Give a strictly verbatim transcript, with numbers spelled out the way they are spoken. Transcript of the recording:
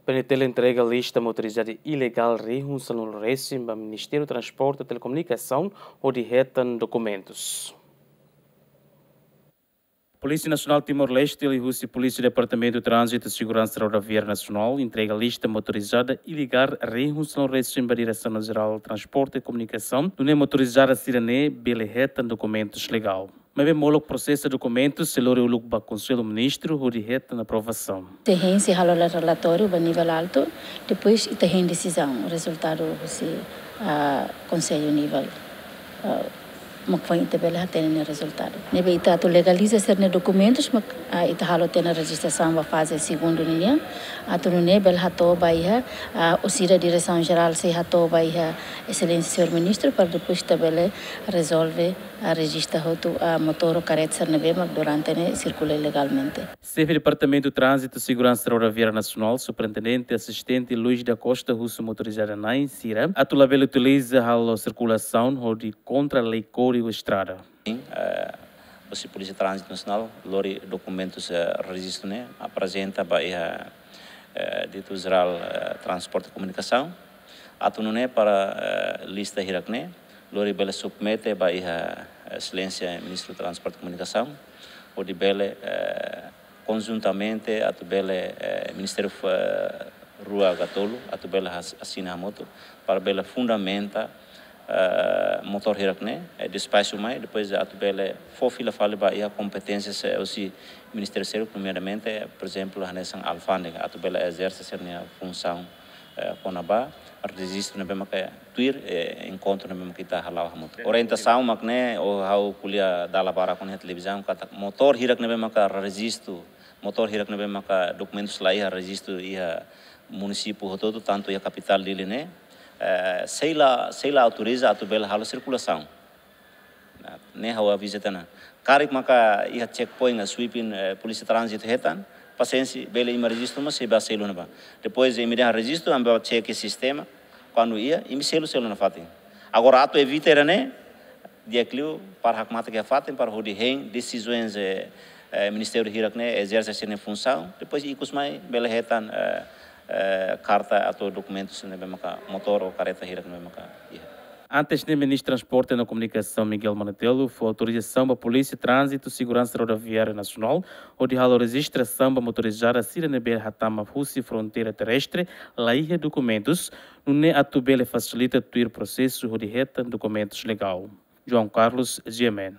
PNTL entrega lista motorizada ilegál rihun sanulu resin ba Ministériu Transporte Telekomunikasaun hodi hetan dokumentus. Polísia Nasionál Timor-Leste liuhusi Polísia Departamentu Tránzitu Seguransa Rodoviária Nasionál entrega lista motorizada ilegál rihun sanulu resin ba Diresaun Jerál Transporte Komunikasaun, nune'e motorizada sira-ne'e bele hetan dokumentus legál. Maibé molok prosesa dokumentus sei lori uluk ba Konsellu Ministru hodi hetan aprovasaun. Ita hein sei halo relatóriu ba nivel altu, depois ita hein desizaun, rezultadu husi, ah, Konsellu nivel, ah, mak foin ita bele hatene nia rezultadu. Ne'ebé ita atu legaliza sira-nia dokumentus, mak, ah, ita halo tiha ona rejistrasaun ba faze segundu ninian, atu nune'e bele hato'o ba iha, ah, orsida Diresaun Jerál sei hato'o ba iha Exelénsia Señór Ministru, para depois ita bele rezolve, ah, rejista hotu, ah, motór ou karreta sira ne'ebé mak durante ne'e sirkula ilegalmente. Xefe Departamentu Tránzitu Seguransa Rodoviária Nasionál, Superintendente Asistente Luís da Costa husu motorizada na'in sira atu labele utiliza halo sirkulasaun hodi kontra lei Kódigu Estrada. Sin, eh, husi Polísia Tránzitu Nasionál lori dokumentus, eh, rejistu ne'e aprezenta ba iha, eh, Diretór Jerál, eh, Transporte Komunikasaun. Atu nune'e para, eh, lista hirak-ne'e lori bele submete ba iha, eh, Exelénsia Ministru Transporte Komunikasaun, hodi bele, eh, konjuntamente atu bele, eh, Ministériu, eh, rua ka tolu atu bele has-, asina hamutuk para bele fundamenta, eh, motór hirak-ne'e, eh, despaxu mai, depois atu bele fó fila fali ba iha kompeténsia husi ministériu seluk, nomeadamente, por ezemplu, hanesan alfándega, atu bele ezerse sira-nia funsaun, eh, kona-ba rejistu ne'ebé maka tuir, eh, enkontru ne'ebé maka ita hala'o hamutuk. Orientasaun mak ne'e, ou ha'u ko'alia dala barak ona iha televizaun, katak motór hirak ne'ebé maka rejistu, motór hirak ne'ebé maka dokumentus la iha rejistu iha munisípiu hotu-hotu, tantu iha kapitál Dili ne'e, eh, sei la, sei la autoriza atu bele halo sirkulasaun. Nah, ne'e ha'u aviza tiha ona. Karik maka iha checkpoint ka sweeping, eh, Polísia Tránzitu hetan, pasiénsia, bele imi rejistu, mas sei bá selu ona bá. Depois imi dehan rejistu, ami bá cek sistema, kuandu iha, imi selu, selu nafatin. Agora atu evita ida-ne'e, di'ak liu para hakmatek iha fatin, para hodi hein desizaun, eh, eh, ministériu hirak-ne'e ezerse sira-nia funsaun, depois ikus mai bele hetan, eh, eh, karta atu dokumentus ne'ebé maka motór ou karreta hirak ne'ebé maka iha. Antes ne'e, Ministru Transporte no Komunikasaun Miguel Manutelo fó autorizasaun ba Polísia Tránzitu Seguransa Rodoviária Nasionál hodi halo rejistrasaun ba motorizada sira ne'ebé hatama husi fronteira terrestre la iha dokumentus, nune'e atu bele fasilita tuir prosesu hodi hetan dokumentus legál. João Carlos, G M N.